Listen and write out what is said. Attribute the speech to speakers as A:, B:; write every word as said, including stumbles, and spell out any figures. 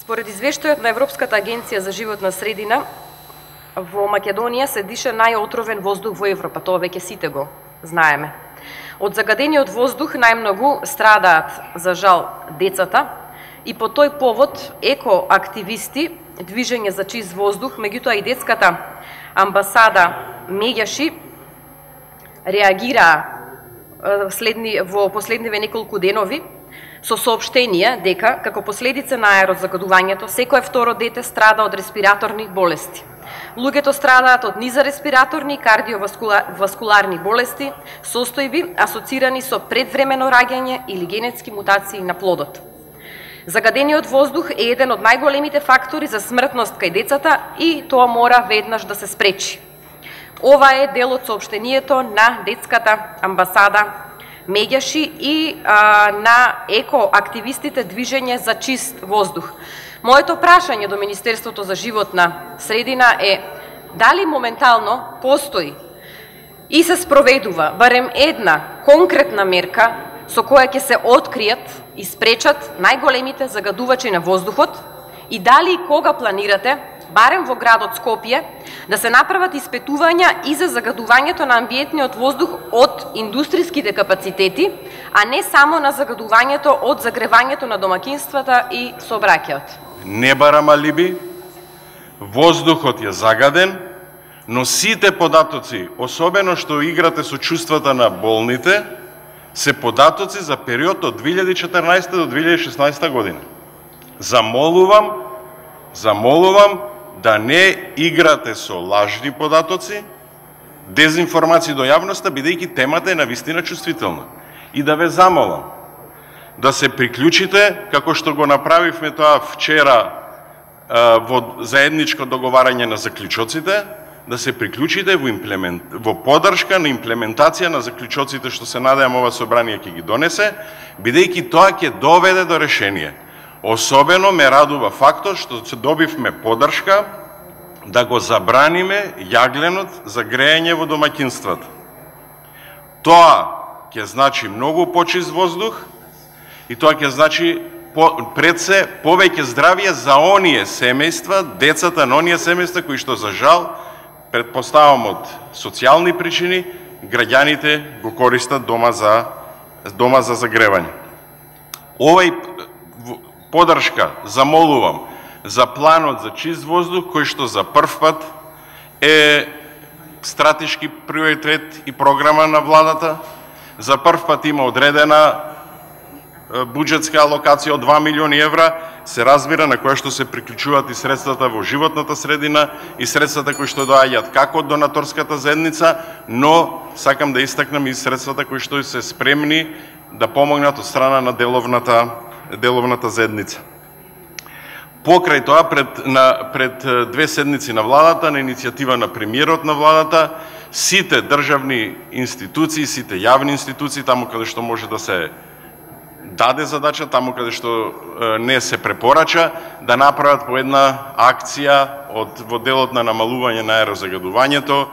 A: Според извештајот на Европската агенција за животна средина, во Македонија се диша најотровен воздух во Европа, тоа веќе сите го знаеме. Од загадениот воздух најмногу страдаат, за жал, децата, и по тој повод екоактивисти, Движење за чист воздух, меѓутоа и детската амбасада Меѓаши реагираа следни, во последниве неколку денови со соопштенија дека, како последица на аерозагадувањето, секое второ дете страда од респираторни болести. Луѓето страдаат од низареспираторни и кардиоваскуларни болести, состојби асоцирани со предвремено раѓање или генетски мутации на плодот. Загадениот воздух е еден од најголемите фактори за смртност кај децата и тоа мора веднаш да се спречи. Ова е дел од соопштението на детската амбасада Меѓаши и а, на екоактивистите Движење за чист воздух. Моето прашање до Министерството за животна средина е дали моментално постои и се спроведува барем една конкретна мерка со која ќе се откријат и спречат најголемите загадувачи на воздухот и дали и кога планирате, барем во градот Скопје, да се направат испитувања и за загадувањето на амбиентниот воздух од индустриските капацитети, а не само на загадувањето од загревањето на домакинствата и сообраќајот.
B: Не барам алиби, воздухот е загаден, но сите податоци, особено што играте со чувствата на болните, се податоци за период од две илјади и четрнаесета до две илјади и шеснаесета година. Замолувам, замолувам да не играте со лажни податоци, дезинформации до јавноста, бидејќи темата е навистина чувствителна. И да ве замолам да се приклучите, како што го направивме тоа вчера во заедничко договарање на заклучоците, да се приклучите во, имплемент... во поддршка на имплементација на заклучоците што се надевам ова собрание ќе ги донесе, бидејќи тоа ќе доведе до решение. Особено ме радува фактот што се добивме поддршка да го забраниме јагленот за грејење во домаќинствата. Тоа ќе значи многу почист воздух и тоа ќе значи по, пред се повеќе здравје за оние семејства, децата на оние семејства кои што за жал, предпоставам од социјални причини, граѓаните го користат дома за дома за загревање. Овај поддршка замолувам за планот за чист воздух, кој што за прв пат е стратешки приоритет и програма на владата. За прв пат има одредена буџетска алокација од два милиони евра, се разбира, на која што се приклучуваат и средствата во животната средина и средствата кои што доаѓаат како од донаторската заедница, но сакам да истакнам и средствата кои што се спремни да помогнат од страна на деловната деловната заедница. Покрај тоа, пред, на, пред две седмици на владата, на иницијатива на премиерот на владата, сите државни институции, сите јавни институции, таму каде што може да се даде задача, таму каде што не се препорача, да направат по една акција од, во делот на намалување на аерозагадувањето.